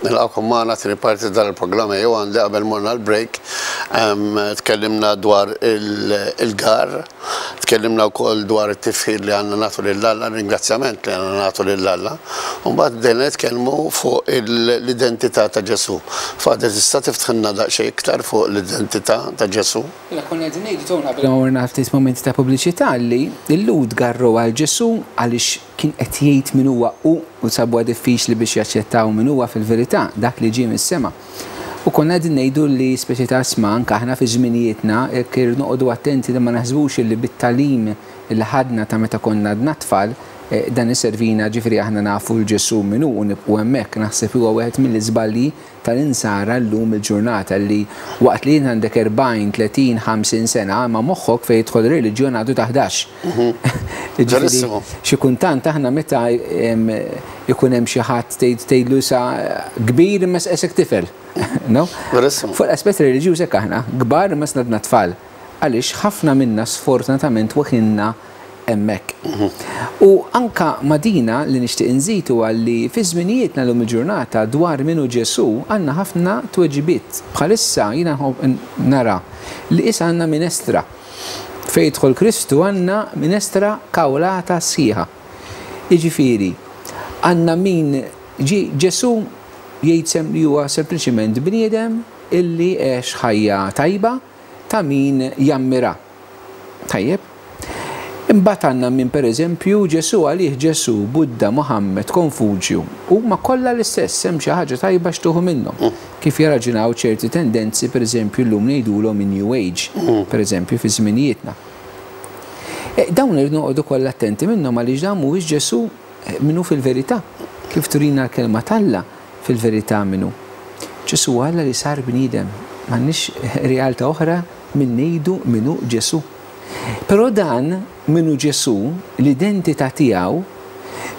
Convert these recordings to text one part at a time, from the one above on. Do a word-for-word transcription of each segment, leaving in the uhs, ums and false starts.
Nilqakom magħna tieni parti tal-programm jew għandi. Qabel morna l-break tkellimna dwar il-gar, tkellimna wkoll dwar it-tifħir li għandna nagħtu lil Alla, ringrazzjament li għandna nagħtu lil Alla. U mbagħad bdejna nitkellmu fuq l-identità ta' Ġesù. Father, tista' tiftħilna daqsxejn iktar fuq l-identità ta' Ġesù? Mela konna qegħdin ngħidu tona qabel ma morna ftit momenti ta' pubbliċità li l-Lhud garru għal Ġesù għaliex kien qed jgħid min huwa hu u sabuha diffiċli biex jaċċettaw min huwa fil-verità, dak li ġie mis-sema. U konna qegħdin ngħidu li speċi ta' sma anke aħna fi żminijietna jekk noqogħdu attenti li ma naħsbux li bit-tagħlim li ħadna ta' meta konna għadna tfal dan iservina, ġifieri aħna nafu l Ġesù min hu u nibqgħu hemmhekk. Naħseb huwa wieħed mill-iżbalji tal-insara llum il-ġurnata li waqt li jien għandek erbgħin, tletin, ħamsin sena ma moħħok fejn jidħol reliġjon għadu ta' ħdax. Ġarissimo. Xi kuntant aħna meta ikun hemm xi ħadd tgħidlu sa kbir imma esek tifel. No? Verissimo. Fuq l-aspett reliġjuż hekk aħna, kbar imma snadna tfal. Għaliex ħafna minna sfortunatament waħinna hemmhekk. U anka madina li nixtieq inżid huwa li fi żminijietna llum il-ġurnata dwar min hu Ġesù għandna ħafna tweġibiet. Bħalissa jiena nara li issa għandna minestra. Fejn jidħol Kristu għandna minestra kawlata sħiħa. Jiġifieri għandna min Ġesù jgħid li huwa sempliċiment bniedem illi għex ħajja tajba ta' min jammira. Tajjeb? Imbagħad għandna min pereżempju Ġesù għalih Ġesù, Buddha, Muhammad, Konfuġju, huma kollha l-istess, hemm xi ħaġa tajba x'tuħu minnhom. Kif jaraġunaw ċerti tendenzi pereżempju llum ngħidulhom in New Age, pereżempju fi żminijietna. Dawn irridu noqogħdu kollha attenti minnhom għaliex dan mhuwiex Ġesù minnu fil-verità. Kif turina l-kelma t'Alla fil-verità minnu. Ġesù Alla li sar bniedem, m'għandniex realtà oħra minn ngħidu minnu Ġesù. Però dan minnu Ġesù, l-identità tiegħu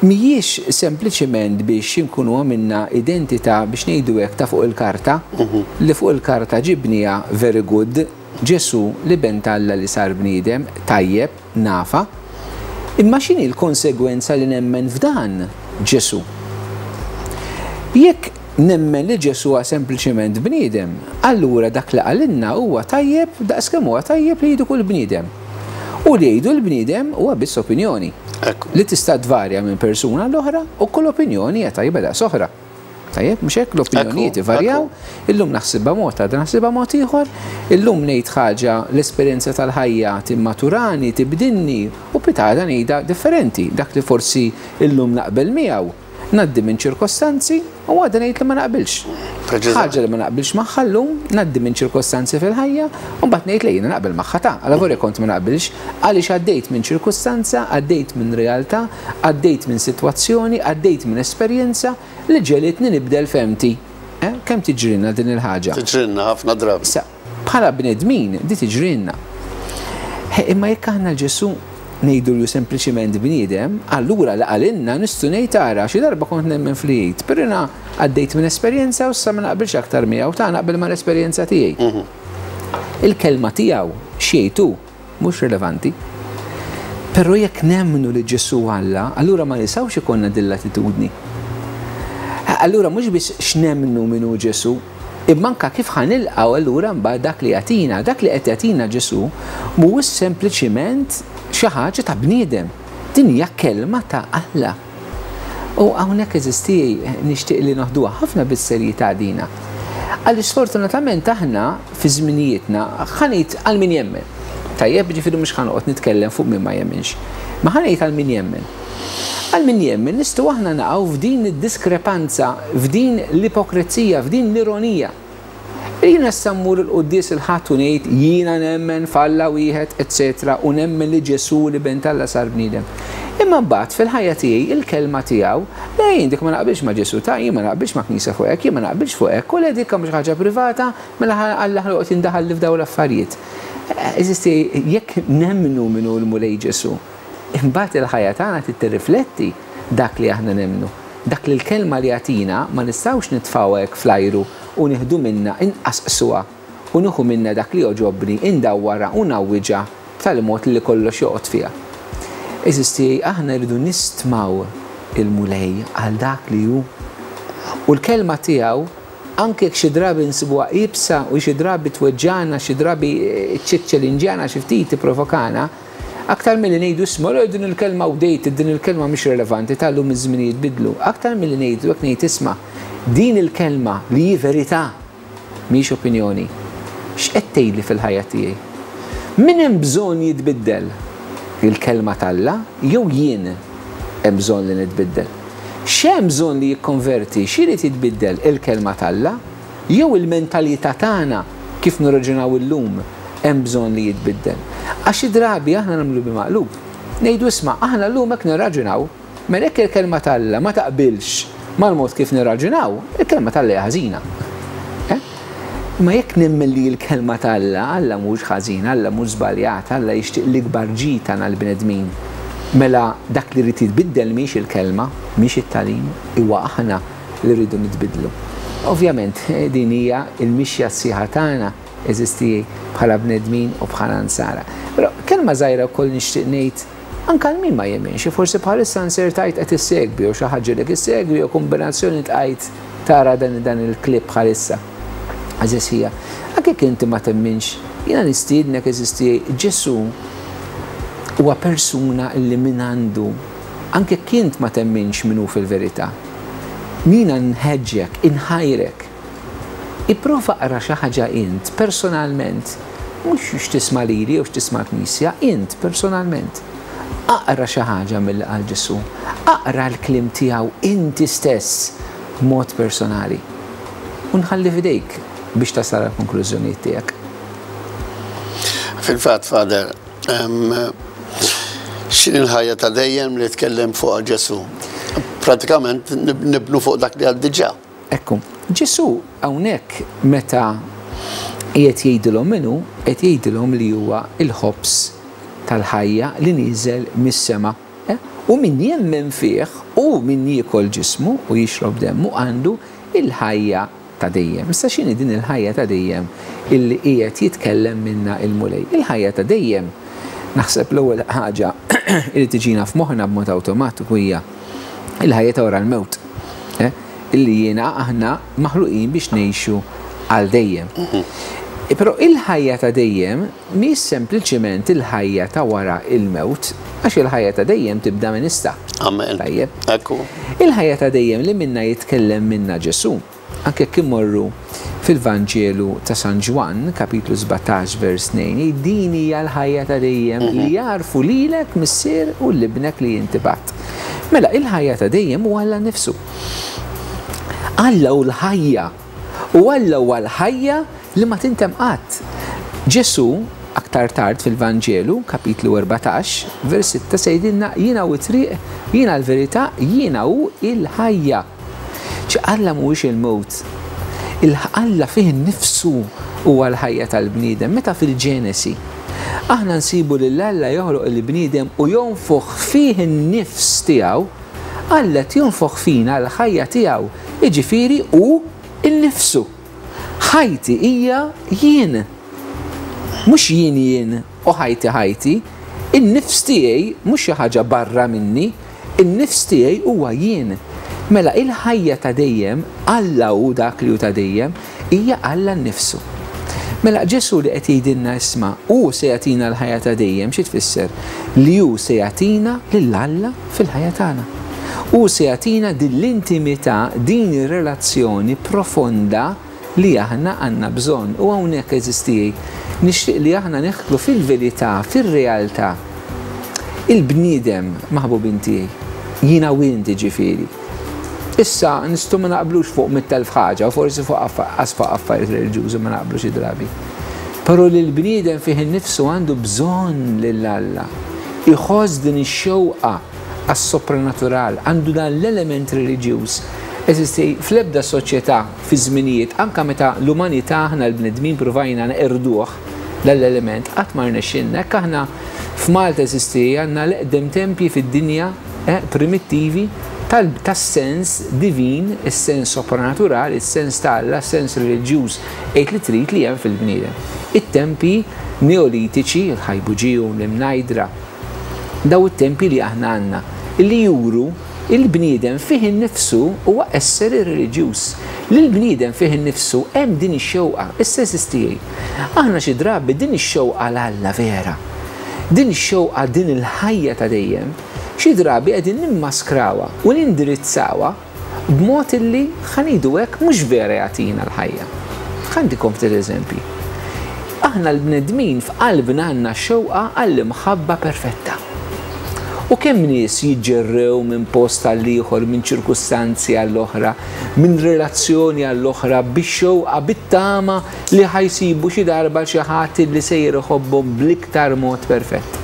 mhijiex sempliċement biex inkunu għamilna identità biex ngħidu hekk ta' fuq il-karta, li fuq il-karta ġibniha very good, Ġesù li ben t'Alla li sar bniedem, tajjeb, nafa. Imma x'inhi l-konsegwenza li nemmen f'dan Ġesù? Jekk nemmen li Ġesù huwa sempliċement bniedem, allura dak li qalilna huwa tajjeb daqskemm huwa tajjeb li jgħidu kull bniedem. U li jgħidu l-bniedem huwa biss opinjoni. Li tista' tvarja minn persuna l-oħra u kull opinjoni hija tajba daqs oħra. Tajjeb, mhux hekk l-opinjonijiet ivarjaw, illum naħsibha mod, għadha naħsibha mod ieħor, illum ngħid ħaġa l-esperjenza tal-ħajja timmaturani, tibdilni u pitada ngħidha differenti, dak li forsi illum naqbel miegħu. Ngħaddi minn ċirkostanzi u għadha ngħid li ma naqbilx. Ħaġa li ma naqbilx magħha llum, ngħaddi minn ċirkostanzi fil-ħajja u mbagħad ngħid li jiena naqbel magħha ta' għala vorja kont ma naqbilx għaliex għaddejt minn ċirkustanza, għaddejt minn realtà, għaddejt minn sitwazzjoni, għaddejt minn esperjenza li ġelitni nibdel femti. Kemm tiġrilna din il-ħaġa? Tiġrilna ħafna drabi. Issa, bħala bnedmin di tiġrilna. Imma jekk aħna Ġesù ngħidu li sempliċiment bniedem, allura li qalilna nistgħu ngħid ara xi darba kont nemmen fl-jgħid, però jiena għaddejt minn esperjenza u issa ma naqbilx aktar miegħu, ta' naqbel mal-esperjenza tiegħi. Il-kelma tiegħu x'jgħid hu mhux rilevanti. Però jekk nemmnu li Ġesù Alla, allura ma nistgħux ikollna din l-attitudni. Allura mhux biss x'nemmnu min hu Ġesù, imma anke kif ħanilqgħu allura mbagħad dak li jagħtina, dak li qed jagħtina Ġesù mhuwiex sempliċiment xi ħaġa ta' bniedem. Din hija kelma ta' Alla. U hawnhekk eżisti nixtieq li noħduha ħafna bis-serjetà dina. Għaliex sfortunatament aħna fi żminijietna ħanejt għal min jemmen. Tajjeb, ġifieri mhux ħanoqgħod nitkellem fuq min ma jemminx. Ma ħanejt għal min jemmen. Għal min jemmen nistgħu aħna naqgħu f'din id-diskrepanza, f'din l-ipokrezija, f'din l-ironija. Jiena issa mmur il-quddies il-Ħadd u ngħid jiena nemmen f'Alla wieħed, eċċetera, u nemmen li Ġesù li ben t'Alla sar bniedem. Imma mbagħad fil-ħajja tiegħi il-kelma tiegħu, le jien dik ma naqbilx ma' Ġesù ta' jien ma naqbilx ma' knisja fuq hekk, jien ma naqbilx fuq hekk, u le dik mhux ħaġa privata, mela Alla ħloqgħod jindaħal li f'dawn l-affarijiet. Eżisti, jekk nemmnu min hu l-Mulej Ġesù, imbagħad il-ħajja tagħna trid tirrifletti dak li aħna nemmnu. Dak li l-kelma li jagħtina ma nistgħux nitfgħu hekk fl-ajru u nieħdu minna inqasqsuha u nieħu minna dak li joġobni, indawwarha u nawwiġha b'tali mod li kollox joqgħod fiha. Eżisti, aħna rridu nistmaw il-Mulej għal dak li hu. U l-kelma tiegħu anke jekk xi drabi nsibuha iebsa u xi drabi tweġġana, xi drabi ċċellinġjana, xi ftit tipprovokana, aktar milli ngħidu isma' din il-kelma outdated, din il-kelma mhix relevanti, tal-lum iż-żminijiet bidlu, aktar milli ngħidu jekk ngħid isma' din il-kelma li hi verità mhix opinjoni. X'qed tgħidli fil-ħajja tiegħi? Min hemm bżonn jitbiddel? Il-kelma t'Alla jew jien hemm bżonn li nitbiddel? X'hemm bżonn li jikkonverti, x'irid jitbiddel, il-kelma t'Alla jew il-mentalità tagħna kif nirraġunaw illum hemm bżonn li jitbiddel? Għax xi drabi aħna nagħmlu bil-maqlub. Ngħidu isma' aħna llum hekk nirraġunaw, mela jekk il-kelma t'Alla ma taqbilx mal-mod kif nirraġunaw, il-kelma t'Alla hija ħażina. Ma jekk nemmen li l-kelma t'Alla, Alla mhux ħażin, Alla mhux żbaljat, Alla jixtieq l-ikbar ġid tagħna l-bnedmin. Mela dak li rrid jitbiddel mhix il-kelma, mhix it-tagħlim, huwa aħna li rridu nitbidlu. Ovvjament din hija l-mixja sħiħa tagħna eżisti bħala bnedmin u bħala nsara. Però kelma żgħira wkoll nixtieq ngħid anke għal min ma jemminx, forsi bħalissa nsertajt qed issegwi jew xi ħaġa li issegwi jew kombinazzjoni tqajt tara dan dan il-klip bħalissa. Għażiż ħija, anke jekk inti ma temminx, jiena nistiednek eżisti Ġesù huwa persuna li min għandu, anke jekk int ma temminx min hu fil-verità. Jiena nħeġġek, inħajrek. Ipprova qra xi ħaġa int personalment, mhux x'tisma' lili jew x'tisma' l-Knisja, int personalment. Aqra xi ħaġa mill qal Ġesù, aqra l-kliem tiegħu inti stess b'mod personali. U nħalli f'idejk biex tasal għall-konklużjonijiet tiegħek. Fil-fatt, Father, x'inhi l-ħajja ta' dejjem li tkellem fuq Ġesù? Pratikament nibnu fuq dak li għad diġà. Ekku, Ġesù hawnhekk meta qiegħed jgħidilhom minnu, qed jgħidilhom li huwa il-ħobż tal-ħajja li nieżel mis-sema. U min jemmen fih u min jiekol ġismu u jixrob demmu għandu il-ħajja ta' dejjem. Issa x'inhi din il-ħajja ta' dejjem illi qiegħed jitkellem minna il-Mulej? Il-ħajja ta' dejjem, naħseb l-ewwel ħaġa li tiġina f'moħħna b'mod awtomatiku hija il-ħajja ta' wara l-mewt. Illi jiena aħna maħluqin biex ngħixu għal dejjem. Però il-ħajja ta' dejjem mhix sempliċiment il-ħajja ta' wara il-mewt, għax il-ħajja ta' dejjem tibda minn issa. Amen. Tajjeb. Ekku. Il-ħajja ta' dejjem li minna jitkellem minna Ġesù, anke jekk immorru fil-Vanġelu ta' San Ġwann, kapitlu sbatax vers tnejn, din hija l-ħajja ta' dejjem li jarfu lilek Missier u l-ibnek li inti bat. Mela il-ħajja ta' dejjem huwa Alla nnifsu. Alla hu l-ħajja. U Alla huwa l-ħajja li ma tintem qatt. Ġesù aktar tard fil-Vanġelu, kapitlu erbatax, vers sitta, se jgħidilna jiena hu t-triq, jiena l-verità, jiena hu il-ħajja. Ċi Alla mhuwiex il-mewt. Il-Alla fih innifsu huwa l-ħajja tal-bniedem. Meta fil-Ġenesi aħna nsibu lil Alla joħloq il-bniedem u jonfoħ fih in-nifs tiegħu, Alla qed jonfoħ fina l-ħajja tiegħu, jiġifieri hu innifsu. Ħajti hija jien. Mhux jien jien u ħajti ħajti, in-nifs tiegħi mhux xi ħaġa barra minni, in-nifs tiegħi huwa jien. Mela il-ħajja ta' dejjem, Alla hu dak li hu ta' dejjem, hija Alla nnifsu. Mela Ġesù li qed jgħidilna isma' hu se jagħtina l-ħajja ta' dejjem, xi tfisser? Li hu se jagħtina lil Alla fil-ħajja tagħna. Hu se jagħtina din l-intimità, din ir-relazzjoni profonda li aħna għandna bżonn. U hawnhekk eżisti, nixtieq li aħna neħlu fil-verità, fir-realtà. Il-bniedem maħbubin tiegħi, jiena u inti ġifieri. Issa nistgħu ma naqblux fuq mitt elf ħaġa, u forsi fuq affa-, fuq affarijiet reliġjużi ma naqblux xi drabi. Però li l-bniedem fih innifsu għandu bżonn lil Alla. Iħoss din ix-xewqa għas-sopranatural, għandu dan l-element reliġjuż. Eżisti fl-ebda soċjetà fi żminijiet, anke meta l-umanità aħna l-bnedmin provajna neqirduh l-element, qatt ma rnexxilna. Hekk aħna f'Malta eżisti għandna l-eqdem tempji fid-dinja, eh, primittivi tas-sens divin, is-sens sopranatural, is-sens ta' Alla, is-sens reliġjuż, għid li trid li hemm fil-bniedem. It-tempi neolitiċi, il-Ħajbuġiju, l-Imnajdra, daw it-tempi li aħna għandna, li juru Il-bniedem fih innifsu huwa esseri reliġjuż. L-bniedem fih innifsu hemm din ix-xewqa, issa eżisti. Aħna xi drabi din ix-xewqa 'l Alla vera. Din ix-xewqa, din il-ħajja ta' dejjem, xi drabi qegħdin nimmaskrawha u nindirizzawha b'mod illi ħa ngħidu hekk mhux vera jagħtina l-ħajja. Ħa ntikom ftit eżempji. Aħna l-bnedmin f'qalbna għandna xewqa għall-imħabba perfetta. U kemm nies jiġġerrew minn post għal ieħor, minn ċirkustanzi għall-oħra, minn relazzjoni għall-oħra, bix-xewqa, bit-tama li ħa jsibu xi darba xi ħadd li sejjer iħobbhom bl-iktar mod perfett.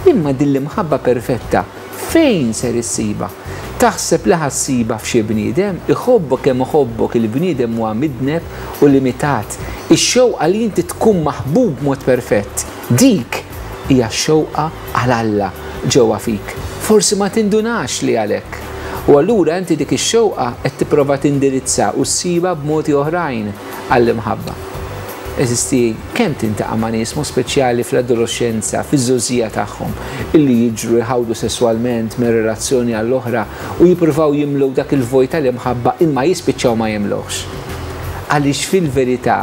Imma din l-imħabba perfetta fejn ser issibha? Taħseb li ħa ssibha f'xi bniedem? Iħobbok kemm iħobbok, il-bniedem huwa midneb u limitat. Ix-xewqa li inti tkun maħbub mod perfett, dik hija x-xewqa għal Alla ġewwa fik. Forsi ma tindunax li għalhekk. U allura inti dik ix-xewqa qed tipprova tindirizza u ssibha b'modi oħrajn għall-imħabba. Eżisti kemm tintaqa' ma' nies mod speċjali fl-adolescenza, fiż-żgħożija tagħhom, illi jiġru jħawdu sesswalment minn relazzjoni għall-oħra u jippruvaw jimlew dak il-vojt tal-imħabba imma jispiċċaw ma jimlewx. Għaliex fil-verità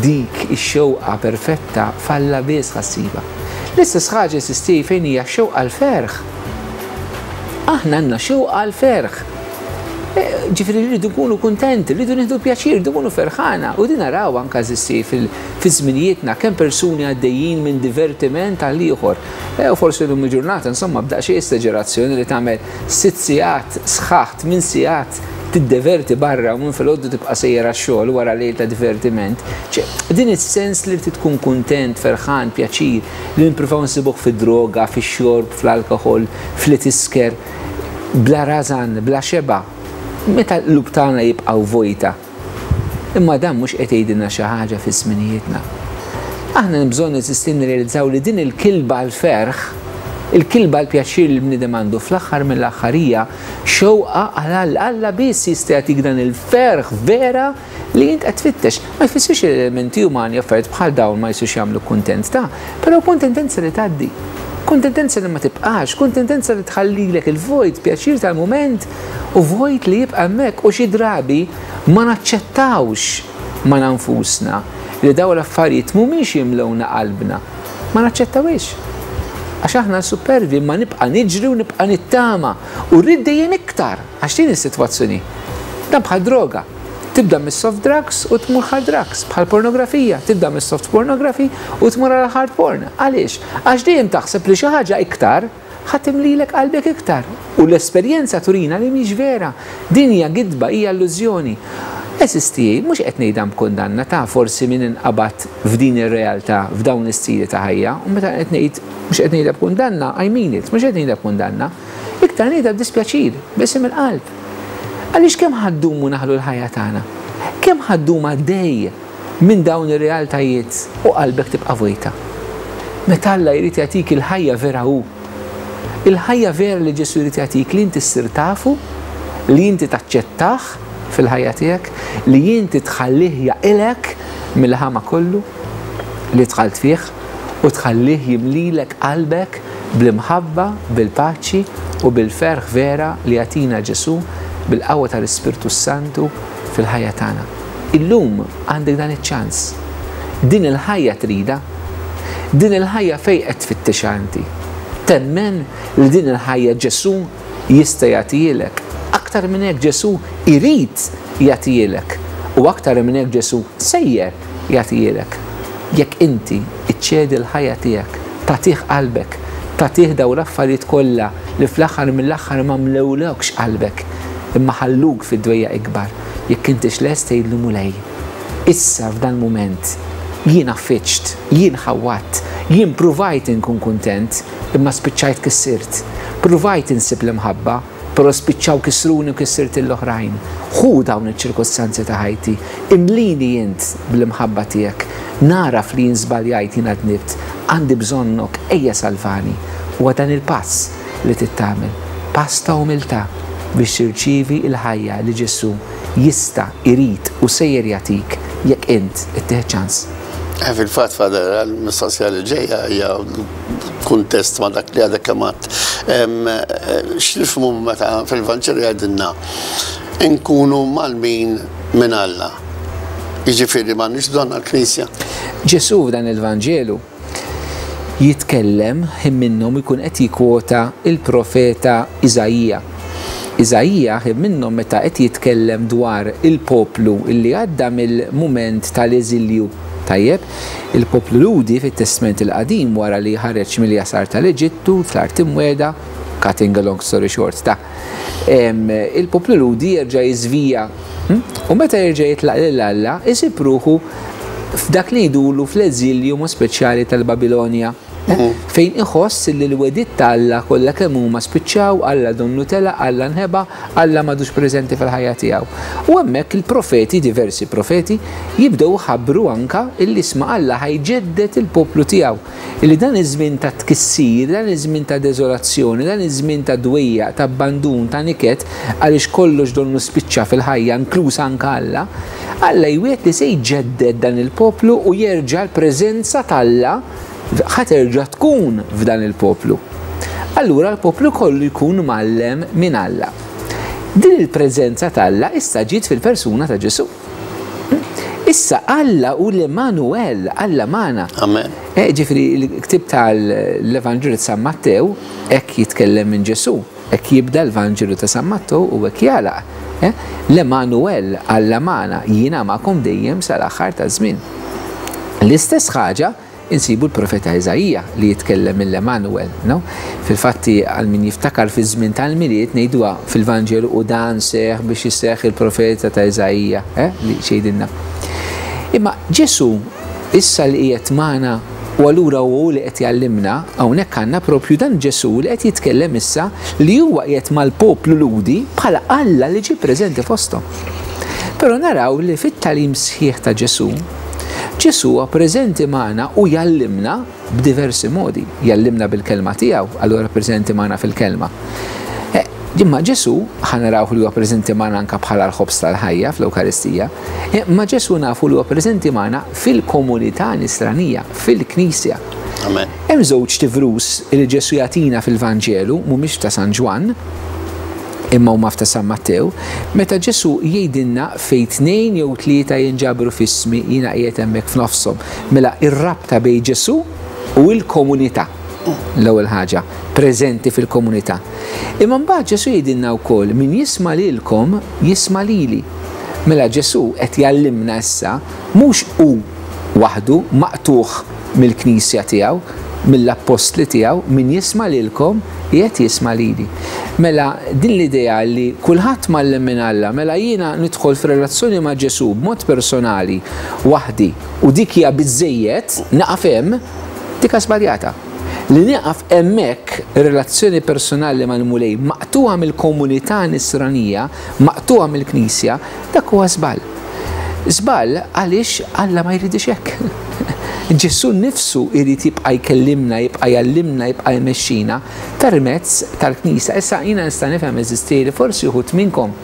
dik ix-xewqa perfetta f'Alla biss ħa ssibha. L-istess ħaġa eżisti fejn hija xewqa l-ferħ. Aħna għandna xewqa l-ferħ. Ġifieri rridu nkunu kuntenti, rridu nieħdu pjaċir, rridu nkunu ferħana. U din naraw anke eżisti fi żminijietna kemm persuni għaddejjin minn divertiment għal ieħor. E, u forsi llum il-ġurnata, insomma, b'daqsxejn esagerazzjoni li tagħmel sitt sigħat sħaħ, tmien sigħat tiddeverti barra u minn filgħodu tibqa' sejjer għax-xogħol wara lejl ta' divertiment. Ċe, din is-sens li trid tkun kuntent, ferħan, pjaċir, li nippruvaw nsibuh fid-droga, fix-xorb, fl-alkoħol, fl-tisker, bla rażan, bla xeba'. Meta l-qlub tagħna jibqgħu vojta. Imma dan mhux qed jgħidilna xi ħaġa fi żminijietna. Aħna bżonn neżisti nirrealizzaw li din il-kilba l-ferħ, il-kilba l-pjaċir li l-bniedem għandu fl-aħħar mill-aħħar hija xewqa għal Alla. Alla biss jista' jagħtik dan il-ferħ vera li int qed tfittex. Ma jfissirx li l-elementi umani affarijiet bħal dawn ma jistgħux jagħmlu kuntent ta', però kuntentenza li tgħaddi. Kuntentenza li ma tibqax, kuntentenza li tħallilek il-vojt, pjaċir tal-mument u vojt li jibqa' hemmhekk. U xi drabi ma naċċettawx ma nfusna li dawn l-affarijiet mhumiex jimlewna qalbna. Ma naċċettawix. Għax aħna supervi ma nibqa' niġri u nibqa' nittama u rrid dejjem iktar għax din is-sitwazzjoni. Dan bħal droga. Tibda mis-soft drugs u tmur hard drugs, bħal pornografija, tibda mis-soft pornography u tmur għal hard porn. Għaliex? Għax dejjem taħseb li xi ħaġa iktar ħa timlilek qalbek iktar. U l-esperjenza turina li mhix vera. Din hija gidba, hija illużjoni. Eżisti, mhux qed ngħidha b'kundanna ta' forsi min inqabad f'din ir-realtà, f'dawn l-istili ta' ħajja, u meta qed ngħid mhux qed ngħidha b'kundanna, I mean it, mhux qed ngħidha b'kundanna, iktar ngħidha b'dispjaċir, b'isem il-qalb. Għaliex kemm ħa ddumu naħlu l-ħajja tagħna? Kemm ħa ddum għaddej minn dawn ir-realtajiet u qalbek tibqa' vojta? Meta Alla jrid jagħtik il-ħajja vera hu. Il-ħajja vera li Ġesù jrid jagħtik li inti ssir tafu, li inti taċċettah fil-ħajja tiegħek, li inti tħallih jaqilek mill-ħama kollu li dħalt fih u tħallih jimlilek qalbek bl-imħabba, bil-paċi u bil-ferħ vera li jagħtina Ġesù bil-qawwa tal-Ispirtu Santu fil-ħajja tagħna. Illum għandek dan iċ-ċans. Din il-ħajja trida, din il-ħajja fejn qed tfittixha inti. Temmen li din il-ħajja Ġesù jista' jagħtihielek. Aktar minn hekk Ġesù irid jagħtihielek u aktar minn hekk Ġesù sejjer jagħtihielek. Jekk inti iċċedi l-ħajja tiegħek, tagħtih qalbek, tagħtih dawn l-affarijiet kollha li fl-aħħar mill-aħħar ma mlewlekx qalbek, imma ħalluk fid-dwejja ikbar. Jekk intix lest tgħidlu Mulej, issa f'dan mument jien affiċt, jien ħawwatt, jien pruvajt inkun kuntent, imma spiċċajt kissirt. Pruvajt insib l-imħabba, però spiċċaw kissruni u kissirt l-oħrajn. Ħu dawn iċ-ċirkostanzi ta' ħajti, imlini int bl-imħabba tiegħek, naraf li jien żbaljajt, jien dnibt, għandi bżonnok, ejja salvani. Huwa dan il-pass li tittamel, pass ta' umiltà biex tirċievi l-ħajja li Ġesù jista', irid u sejjer jagħtik jekk int ittieħ ċans. Fil-fatt, Father, għal-mistoqsija li ġejja hija kuntest ma' dak li għadek kemm għedt. X'nifhmu meta fil-Vanġelu jgħidilna nkunu mgħallmin minn Alla? Jiġifieri m'għandniex bżonn għall-Knisja. Ġesù f'dan il-Vanġelu jitkellem, ħin minnhom ikun qed jikwota il-profeta Iżaija. Iżaija ħin minnhom meta qed jitkellem dwar il-poplu illi għadda mill-mument tal-eżilju. Tajjeb, il-poplu Lhudi fit-Testament il-Qadim wara li ħareġ mill-jasar tal-Eġittu, fl-art imwiegħda, cutting a long story short, ta' il-poplu Lhudi jerġa' jiżvija. U meta jerġa' jitlaq lil Alla, isib ruħu f'dak li jdulu fl-eżilju mod speċjali tal-Babilonja, fejn iħoss li l-wegħdiet ta' Alla kollha kemm huma spiċċaw, Alla donnu tela, Alla nħeba, Alla m'għadux preżenti fil-ħajja tiegħu. U hemmhekk il-profeti, diversi profeti, jibdew ħabbru anka illi isma' Alla ħa jġedded il-poplu tiegħu. Illi dan iż-żmien ta' tkissir, dan iż-żmien ta' deżolazzjoni, dan iż-żmien ta' dwejjaq, ta' abbandun, ta' niket, għaliex kollox donnu spiċċa fil-ħajja, inkluż anka Alla, Alla jwiegħed li se jġedded dan il-poplu u jerġa' l-preżenza t'Alla ħa terġa' tkun f'dan il-poplu. Allura l-poplu kollu jkun mgħallem minn Alla. Din il-preżenza t'Alla issa ġiet fil-persuna ta' Ġesù. Issa Alla hu l-Emanuel, Alla magħna. Amen. Eh, ġifieri l-ktib tal-Evanġelju ta' San Mattew hekk jitkellem minn Ġesù, hekk jibda l-Vanġelu ta' San Mattew u hekk jagħlaq. Eh, L-Emanuel, Alla magħna, jiena magħkom dejjem sal-aħħar taż-żmien. L-istess ħaġa insibu l-profeta Iżaija li jitkellem mill-Emanuel, no? Fil-fatti għal min jiftakar fi żmien tal-Milied ngħiduha fil-Vanġelu u dan seħ biex jisseħ il-profeta ta' Iżaija, eh, li xejdilna. Imma Ġesù issa li qiegħed magħna u allura hu li qed jgħallimna, hawnhekk għandna propju dan Ġesù li qed jitkellem issa li huwa qiegħed mal-poplu Lhudi bħala Alla li ġie preżenti fosthom. Però naraw li fit-tagħlim sħiħ ta' Ġesù, Ġesù huwa preżenti magħna u jgħallimna b'diversi modi. Jgħallimna bil-kelma tiegħu, allura preżenti magħna fil-kelma. Imma Ġesù ħa naraw li huwa preżenti magħna anke bħala l-ħobż tal-ħajja fl-Ewkaristija, imma Ġesù nafu li huwa preżenti magħna fil-komunità nisranija, fil-Knisja. Amen. Hemm żewġ tivrus li Ġesù jagħtina fil-Vanġelu, mhumiex ta' San Ġwann, imma huma ta' San Mattew, meta Ġesù jgħidilna fejn tnejn jew tlieta jinġabru f'ismi jiena qiegħed hemmhekk f'nofshom. Mela ir-rabta bejn Ġesù u l-komunità. L-ewwel ħaġa, preżenti fil-komunità. Imma mbagħad Ġesù jgħidilna wkoll min jisma' lilkom jisma' lili. Mela Ġesù qed jgħallimna issa mhux hu waħdu maqtuħ mill-Knisja tiegħu, mill-appostli tiegħu, min jisma' lilkom qiegħed jisma' lili. Mela din l-idea li kulħadd mgħallem minn Alla, mela jiena nidħol f'relazzjoni ma' Ġesù b'mod personali waħdi u dik hija biżejjed naqaf hemm, dik żbaljata. Li nieqaf hemmhekk relazzjoni personali mal-Mulej maqtuha mill-komunità nisranija, maqtuha mill-Knisja, dak huwa żball. Żball għaliex Alla ma jridix hekk. Ġesù nnifsu jrid jibqa' jkellimna, jibqa' jgħallimna, jibqa' jmexxina permezz tal-Knisja. Issa jiena nista' nifhem eżisti li forsi wħud minnkom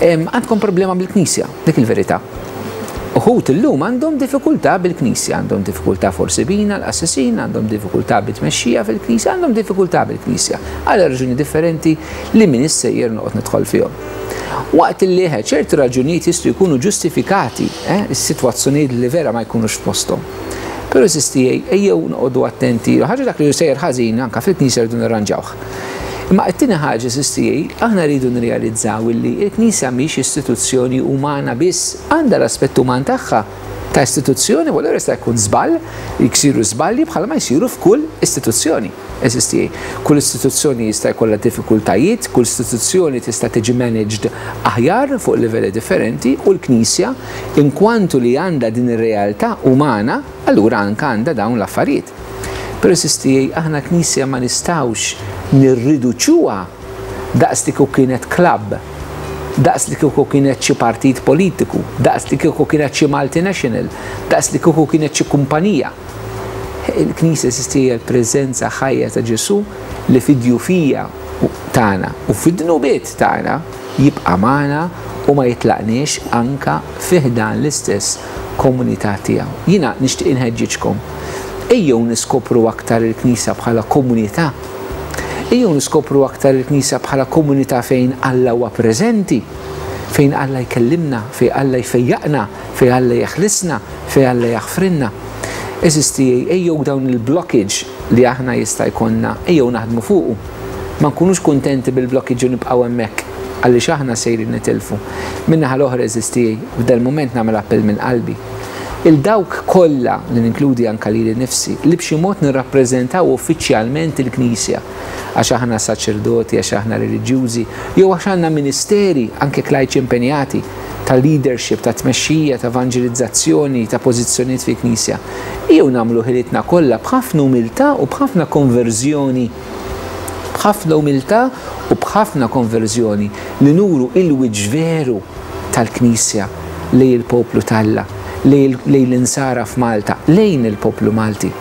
għandkom problema bil-Knisja, dik il-verità. Uħud illum għandhom diffikultà bil-Knisja, għandhom diffikultà forsi bina l-assassin, għandhom diffikultà bit-tmexxija fil-Knisja, għandhom diffikultà bil-Knisja, għal raġuni differenti li min issejjer noqgħod nidħol fihom. Waqt li ċertu raġunijiet jistgħu jkunu ġustifikati, eh, is-sitwazzjonijiet li vera ma jkunux f'posthom. Però eżisti ejjew noqogħdu attenti, ħaġa dak li sejjer ħażin anke fil-Knisja rridu nirranġawh. Imma t-tieni ħaġa eżisti, aħna rridu nirrealizzaw li l-Knisja mhix istituzzjoni umana biss, għandha l-aspett uman tagħha ta' istituzzjoni, u allura jista' jkun żball, jsiru żbalji bħalma jsiru f'kull istituzzjoni. Eżisti, kull istituzzjoni jista' jkollha diffikultajiet, kull istituzzjoni tista' tiġi managed aħjar fuq livelli differenti, u l-Knisja, inkwantu li għandha din ir-realtà umana, allura anke għandha dawn l-affarijiet. Però eżisti, aħna Knisja ma nistgħux nirriduċuha daqs li kieku kienet klabb, daqs li kieku kienet xi partit politiku, daqs li kieku kienet xi multinational, daqs li kieku kienet xi kumpanija. Il-Knisja eżisti hija l-preżenza ħajja ta' Ġesù li fid-djufija tagħna u fid-dnubiet tagħna jibqa' magħna u ma jitlaqniex anka fi ħdan l-istess komunità tiegħu. Jiena nixtieq inħeġġiġkom, ejjew niskopru aktar il-Knisja bħala komunità. Ejjew niskopru aktar il-Knisja bħala komunità fejn Alla huwa preżenti, fejn Alla jkellimna, fejn Alla jfejjaqna, fejn Alla jeħlisna, fejn Alla jaħfrinna. Eżisti, ejjew dawn il-blockage li aħna jista' jkollna, ejjew naħdmu fuqu. Ma nkunux kuntenti bil-blockage u nibqgħu hemmhekk, għaliex aħna sejrin nitilfu. Min-naħa l-oħra, eżisti, f'dal mument nagħmel appell minn qalbi. Il-dawk kollha li ninkludi anka lili nnifsi, li b'xi mod nirrappreżentaw uffiċjalment il-Knisja, għax aħna saċerdoti, għax aħna reliġjużi, jew għax għandna ministeri, anke klajċi impenjati, ta' leadership, ta' tmexxija, ta' evanġelizzazzjoni, ta' pożizzjonijiet fi Knisja. Ejjew nagħmlu ħilitna kollha b'ħafna umiltà u b'ħafna konverżjoni, b'ħafna umiltà u b'ħafna konverżjoni li nuru il-wiċċ veru tal-Knisja lejn il-poplu t'Alla, lejn l-insara f'Malta, lejn il-poplu Malti.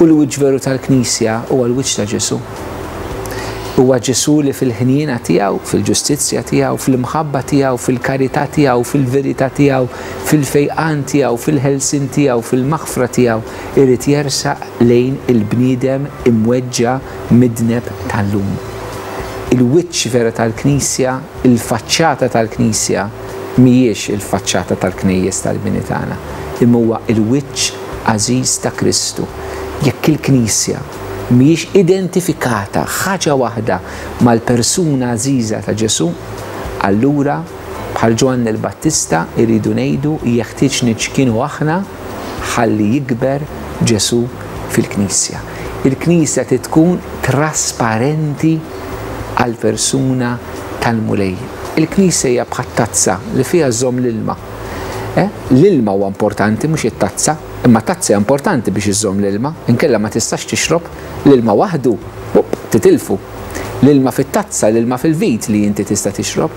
U l-wiċċ veru tal-Knisja huwa l-wiċċ ta' Ġesù. Huwa Ġesù li fil-ħniena tiegħu, fil-ġustizzja tiegħu, fil-imħabba tiegħu, fil-karità tiegħu, fil-verità tiegħu, fil-fejqan tiegħu, fil-ħelsien tiegħu, fil-maħfra tiegħu, irid jersaq lejn il-bniedem imweġġa' midneb tal-lum. Il-wiċċ vera tal-Knisja, il-faċċata tal-Knisja, mhijiex il-faċċata tal-knejjes tal-bini tagħna, imma huwa il-wiċċ għażiż ta' Kristu. Jekk il-Knisja mhijiex identifikata ħaġa waħda mal-persuna għażiża ta' Ġesù, allura bħal Ġwanni l-Battista irridu ngħidu jeħtieġ niċkienu aħna ħalli jikber Ġesù fil-Knisja. Il-Knisja trid tkun trasparenti għall-persuna tal-Mulej. Il-Knisja hija bħal tazza li fiha żomm l-ilma. Eh? L-ilma huwa importanti, mhux it-tazza, imma tazza hija importanti biex iżżomm l-ilma, inkella ma tistax tixrob l-ilma waħdu, up, titilfu. L-ilma fit-tazza, l-ilma fil-vit li inti tista' tixrob.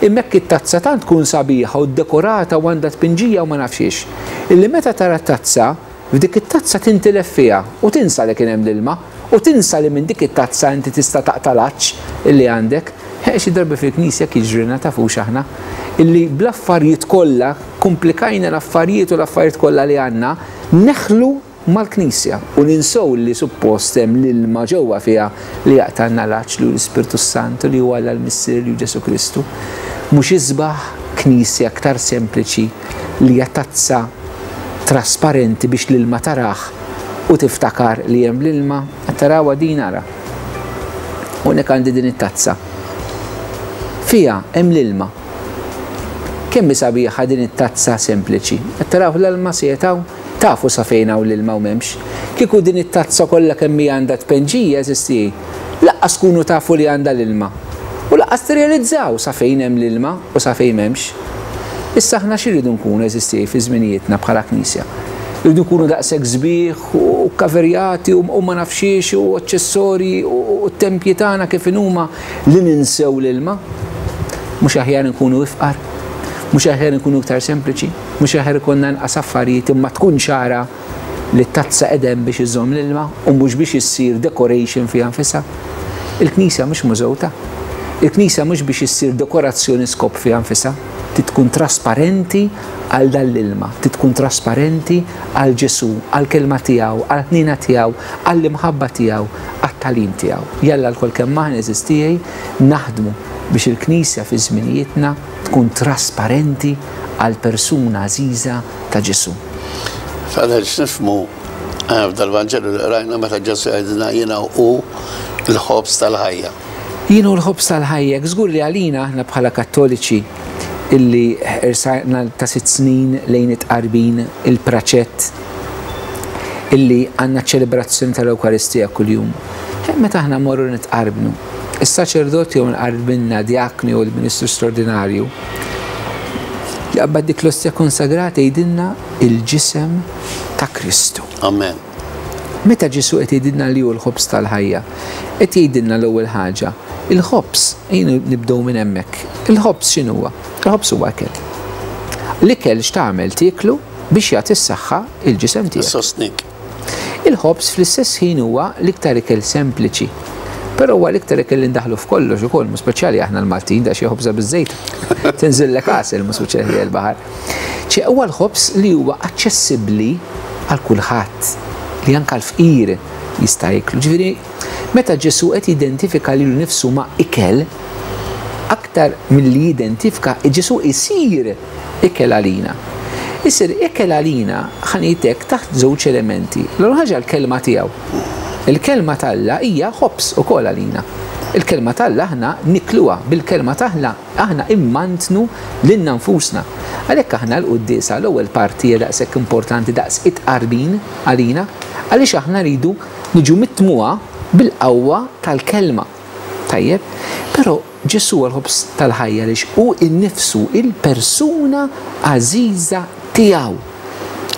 Imma hekk it-tazza tant tkun sabiħa u ddekorata u għandha tpinġija u ma nafx, illi meta tara tazza, f'dik it-tazza tintilef fiha u tinsa li kien hemm l-ilma u tinsa li minn dik it-tazza inti tista' taqta' l-għatx illi għandek. Xi darba fil-Knisja jiġrina tafux aħna illi bl-affarijiet kollha komplikajna l-affarijiet u l-affarijiet kollha li għandna neħlu mal-Knisja u ninsew li suppost hemm l-ilma ġewwa fiha li jaqtalna l-għatx li hu l-Ispirtu Santu li huwa Alla l-Missier li hu Ġesù Kristu. Mhux isbaħ Knisja aktar sempliċi li hija tazza trasparenti biex l-ilma taraħ u tiftakar li hemm l-ilma, tarawha din ara. Hawnhekk għandi din it-tazza. Fija hemm l-ilma. Kemm hi sabiħa din it-tazza sempliċi. Qed taraw l-ilma se jetaw, tafu sa fejn hawn l-ilma u m'hemmx. Kieku din it-tazza kollha kemm hija għandha tpenġija eżisti, laqqas tkunu tafu li għandha l-ilma. U laqqas tirrealizzaw sa fejn hemm l-ilma u sa fejn m'hemmx. Issa aħna x'irridu nkunu eżisti fi żminijietna bħala Knisja? Irridu nkunu daqshekk sbieħ u kaverjati u ma nafxiex u aċċessorji u t-tempji tagħna kif inhuma li ninsew l-ilma? Mhux aħjar nkunu ifqar, mhux aħjar nkunu iktar sempliċi, mhux aħjar ikollna inqas affarijiet imma tkun ċara li t-tazza qedem biex iżomm l-ilma u mhux biex issir decoration fiha nfisha. Il-Knisja mhux mużewta. Il-Knisja mhux biex issir dekorazzjoni skop fiha nfisha, trid tkun trasparenti għal dan l-ilma, trid tkun trasparenti għal Ġesù, għal kelma tiegħu, għal ħnina tiegħu, għall imħabba tiegħu, għat-tagħlim tiegħu. Jalla lkoll kemm aħna eżistijej naħdmu biex il-Knisja fi żminijietna tkun trasparenti għal persuna għażiża ta' Ġesù. Father, x'nifhmu f'dal-Vanġelu li qrajna meta Ġesù jgħidilna jiena hu l-ħobż tal-ħajja. Jien hu l-ħobż tal-ħajja, żgur li għalina aħna bħala Kattoliċi illi irsajna ta' sitt snin lejn it-tqarbin il-praċett illi għandna ċelebrazzjoni tal-Ewkaristija kuljum. Meta aħna morru nitqarbnu, is-saċerdot jew nqarbinna diakni u l-ministru straordinarju jaqbad dik l-ostja konsagrata jgħidilna il-ġisem ta' Kristu. Amen. Meta Ġesù qed jgħidilna li hu l-ħobż tal-ħajja, qed jgħidilna l-ewwel ħaġa, il-ħobż, ejja nibdew minn hemmhekk. Il-ħobż x'inhuwa? Il-ħobż huwa ikel. L-ikel x'tagħmel tieklu biex jagħti s-saħħa il-ġisem tiegħek. Sostnik. Il-ħobż fl-istess ħin huwa l-iktar ikel sempliċi. Però huwa l-iktar ikel li ndaħlu f'kollox ukoll, mhux speċjali aħna l-Maltin, da xi ħobża biż-żejt. Tinżillek għasel, mhux speċjali l-baħar. Ċe huwa l-ħobż li huwa aċċessibbli għal kulħadd, li anke l-fqir jista' jiklu. Ġifieri, meta Ġesu qed jidentifika lilu nnifsu ma' ikel, aktar milli jidentifika, Ġesu isir ikel għalina. Isir ikel għalina, ħa ngħidlek, taħt żewġ elementi. L-ewwel ħaġa, l-kelma tiegħu. Il-kelma t'Alla hija ħobż ukoll għalina. Il-kelma t'Alla aħna nikluha, bil-kelma t'Alla aħna immantnu lilna nfusna. Għalhekk aħna l-quddiesa, l-ewwel parti hija daqshekk importanti daqs it-tqarbin għalina, għaliex aħna rridu niġu mitmugħa bil-qawwa tal-kelma. Tajjeb, però Ġesu għal-ħobż tal-ħajja għaliex hu innifsu, il-persuna għażiża tiegħu.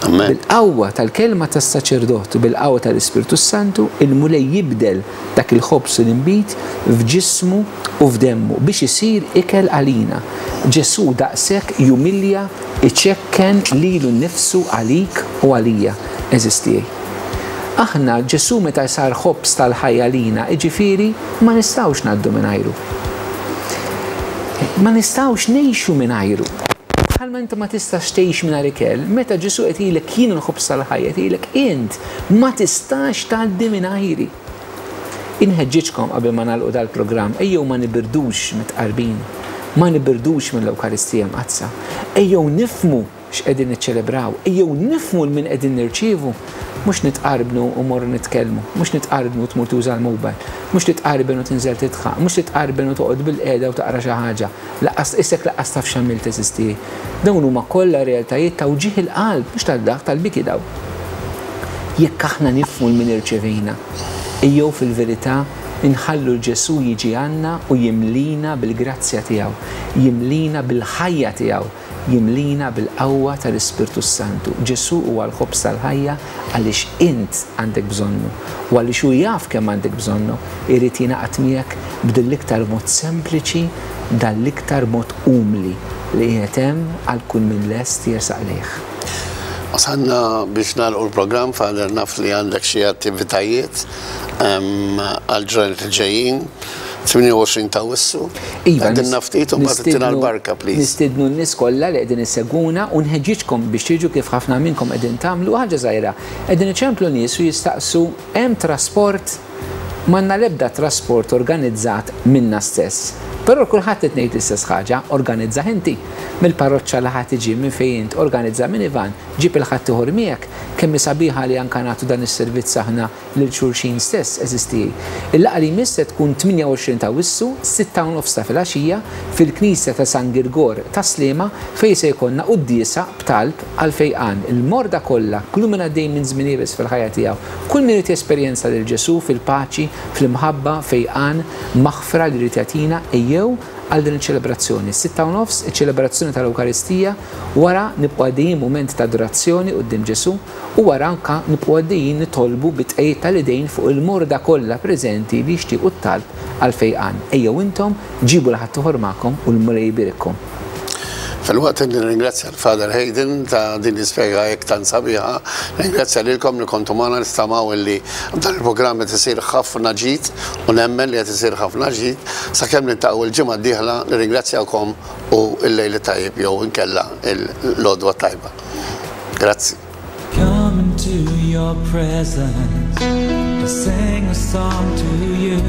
Bil-qawwa tal-kelma tas-saċerdot u bil-qawwa tal-Ispirtu Santu, il-Mulej jibdel dak il-ħobż u l-inbid f'ġismu u f'demmu biex isir ikel għalina. Ġesu daqshekk jumilja, iċekken lilu nnifsu għalik u għalija, għeżież tiegħi. Aħna Ġesu meta sar ħobż tal-ħajja għalina, iġifieri ma nistgħux ngħaddu mingħajru. Ma nistgħux ngħixu mingħajru. Bħalma inti ma tistax tgħix mingħajr ikel, meta Ġesu qed jgħidlek "Jien l-ħobż tal-ħajja", qed int ma tistax tgħaddi mingħajri. Inħeġġiġkom qabel ma nagħlqu dal-programm, ejjew ma nibirdux mit-tqarbin, ma nibirdux mill-Ewkaristija Mqaddsa. Ejjew nifhmu x'qegħdin niċċelebraw, ejjew nifhmu 'l min qegħdin nirċievu, mhux nitqarbnu u morru nitkellmu, mhux nitqarbnu u tmur tuża l-mobile, mhux titqarben u tinżel tidħaq, mhux titqarben u toqgħod bil-qiegħda u taqra xi ħaġa. Lanqas isek lanqas taf x'għamilt, teżisti. Dawn huma kollha realtajiet ta' wġigħ il-qalb, mhux tad-daħk, tal-biki daw. Jekk aħna nifhmu 'l min irċevejna, ejjew fil-verità inħallu l Ġesu jiġi għandna u jimlina bil-grazzja tiegħu, jimlina bil-ħajja tiegħu, jimlina bil-qawwa tal-Ispirtu Santu. Ġesu huwa l-ħobż tal-ħajja għaliex int għandek bżonnu u għaliex hu jaf kemm għandek bżonnu, irid jingħaqad miegħek b'dil-iktar mod sempliċi, dal-iktar mod umli li qiegħed hemm għal kull min lest jersaq lejh. Wasalna biex nagħlqu l-programm, Father, naf li għandek xi attivitajiet għal-ġranet il-ġejjin, tmienja u għoxrin ta' Awwissu. Iva, Għidilna ftit u mbagħad ittina l-barka, please. Nistidnu n-nies kollha li qegħdin issegwuna u nħeġġiġkom biex tiġu kif ħafna minnkom qegħdin tagħmlu. Ħaġa żgħira. Qegħdin iċemplu nies u jistaqsu hemm trasport? M'għandna l-ebda trasport organizzat minna stess. Però kulħadd qed ngħid l-istess ħaġa, organizza inti. Mill-parroċċa li ħadd iġi minn fejn int, organizza minivan, ġib il-ħadd ieħor miegħek, kemm sabiħa li anka nagħtu dan is-servizz aħna lil xulxin stess, għeżież tiegħi. Il-laqgħa li jmiss se tkun tmienja u għoxrin ta' Awwissu, sitta u nofs ta' filgħaxija, fil-Knisja ta' San Girgor ta' Sliema, fejn se jkollna quddiesa b'talb għal fejqan. Il-morda kollha, kull min għaddej minn żmien iebes fil-ħajja tiegħu, kull min irid jesperjenza lil Ġesu fil-paċi, fl-imħabba, fejqan, maħfra li jrid jagħtina, ejjew għal din iċ-ċelebrazzjoni. Sitta u nofs, iċ-ċelebrazzjoni tal-Ewkaristija, wara nibqgħu għaddejjin mument ta' adorazzjoni quddiem Ġesu u wara anka nibqgħu għaddejjin nitolbu bit-tqegħid tal-idejn fuq il-morda kollha preżenti li jixtiequ t-talb għal fejqan. Ejjew intom, ġibu 'l ħaddieħor magħkom u l-Mulej jbierikkom. Filwaqt li nirringrazzja l-Father Hayden ta' din l-ispjega hekk tant sabiħa, ringrazzja lilkom li kontu magħna. Nittamaw li dan il-programm qed isir ħafna ġid u nemmen li qed isir ħafna ġid. Sakemm niltaqgħu il-ġimgħa d-dieħla, nirringrazzjakom u l-lejl tajjeb jew inkella l-għodwa tajba. Grazzi. Come into your presence to sing a song to you,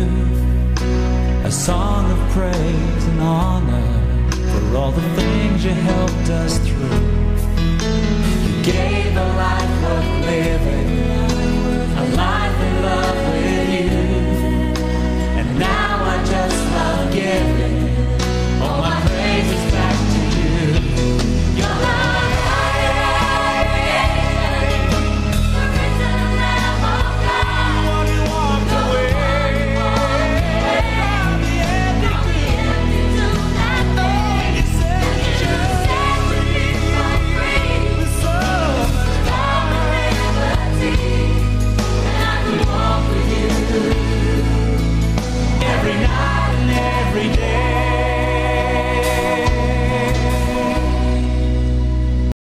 a song of praise and honor for all the things you helped us through. You gave a life worth living.